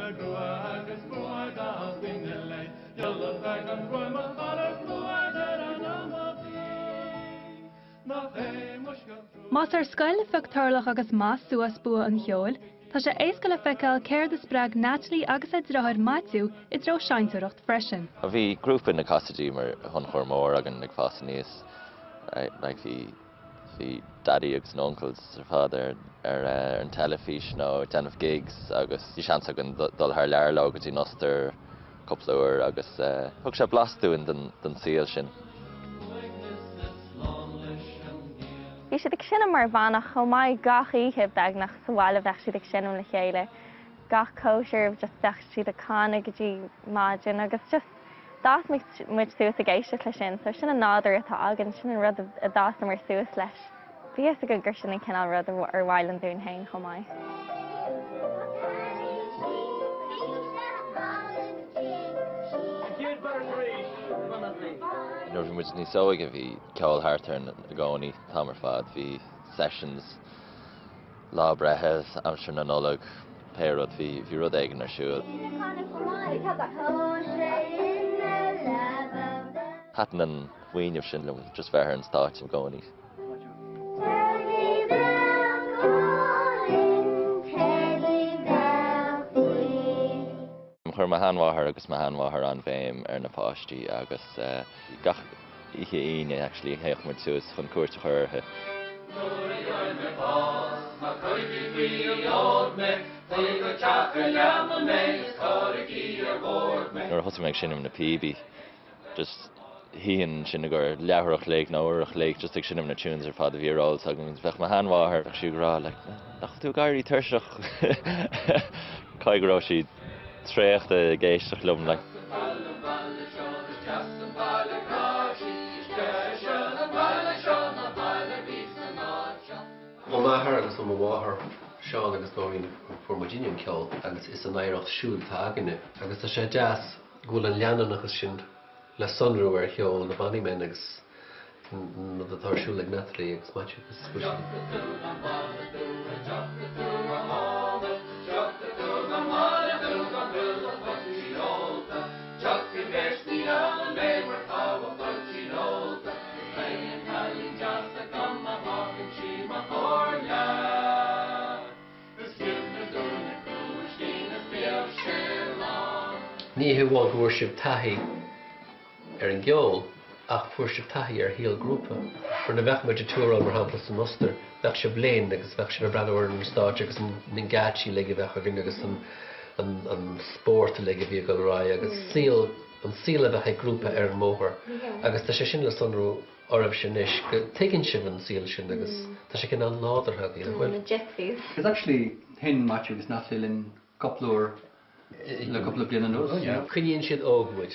Más ar scoil a phioc Tarlach agus Mas suas bua an cheoil, tá sé éasca le feiceáil céard a spreag Natalie agus a deartháir Maitiú i dtreo seinnteoireacht freisin. Bhí grúpa na Casaidigh mar thionchar mór againn ag fás aníos. Like bhí bhí Daddy agus na uncles ar fad ar ar an teilifís nó ag déanamh gigs agus bhí seans againn dul thar lear leo go dtí an Ostair cúpla uair agus thug sé blas dúinn den den saol sin. Bhí siad ag seinm mar bhanna chomh maith gach oíche beagnach sa bhaile bheadh siad ag seinm le chéile gach cóisir just bheadh siad ag canadh go dtí maidin agus just d'fhás muid suas ag éisteacht leis sin so sin an nádúr atá againn sin an rud a d'fhásamar suas leis. Bhí fhios againn gur sin an cineál rud ar mhaith linn dúinn féin chomh maith. Nuair a bhí muid níos óige bhí ceol thart orainn i gcónaí, an t-am ar fad. Bhí sessions, lá breithe, aimsir na Nollag, pé rud, bhí bhí rud éigin ar siúl. Thaitin an fuinneamh sin liom, just bheith ar an stáitse i gcónaí. Chuir mo sheanmháthair agus mo sheanmháthair an-bhéim ar na páistí agus gach oíche Aoine actually théadh muid suas chun cuairt a chur orthu. Nuair a thosaigh mé ag seinm na píobaí just shuínn ansin i gcomhair leathuair a chloig nó uair a chloig just ag seinm na tunes ar fad a bhí ar eolas agam agus bheadh mo sheanmháthair, bheadh sí ag rá like nach bhfuil tú ag éirí tuirseach? Caithfidh go raibh sí traochta ag éisteacht liom like. Ó m'athair agus ó mo mháthair, Seán agus Nóirín, fuair muidinne an ceol agus is an oidhreacht siúd atá againne agus tá sé deas go bhfuil an leanúnachas sin le sonrú ar cheol na Bonny Men agus an rud atá ar siúl ag Natalie agus Maitiú agus go bhfuil Ní hamháin go bhfuair sibh taithí ar an gceol, ach fuair sibh taithí ar shaol grúpa. Mar nuair a bheadh muid ag tour-áil, mar shampla, san Ostair, bheadh sibh linn agus bheadh sibh ag breathnú ar an stáitse agus na geáitsí uilig a bheadh againn agus an spórt uilig a bhí ag dul ar aghaidh agus saol, an saol a bheadh ag grúpa ar an mbóthar. Agus tá sé sin le sonrú oraibhse anois, go dtuigeann sibh an saol sin agus tá sé cineál nádúrtha agaibh, nach bhfuil? Na gypsies. Because actually sheinn Maitiú agus Natalie linn cúpla uair le cúpla bliain anuas. Coinníonn siad óg muid.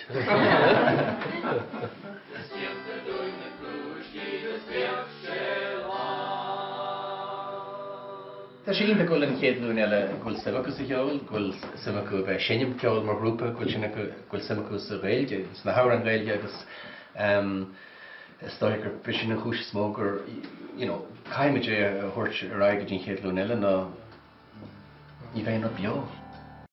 Tá sé iontach go bhfuil an chéad ghlúin eile, go bhfuil suim acu sa cheol, go bhfuil suim acu a bheith ag seinm ceoil mar ghrúpa, go bhfuil sin acu, go bhfuil suim acu sa Ghaeilge, sna hamhráin Ghaeilge agus is dóigh gurb é sin an chúis is mó gur, you know, caithfimid é a thabhairt ar aghaidh go dtí an chéad ghlúin eile nó ní bheidh an rud beo.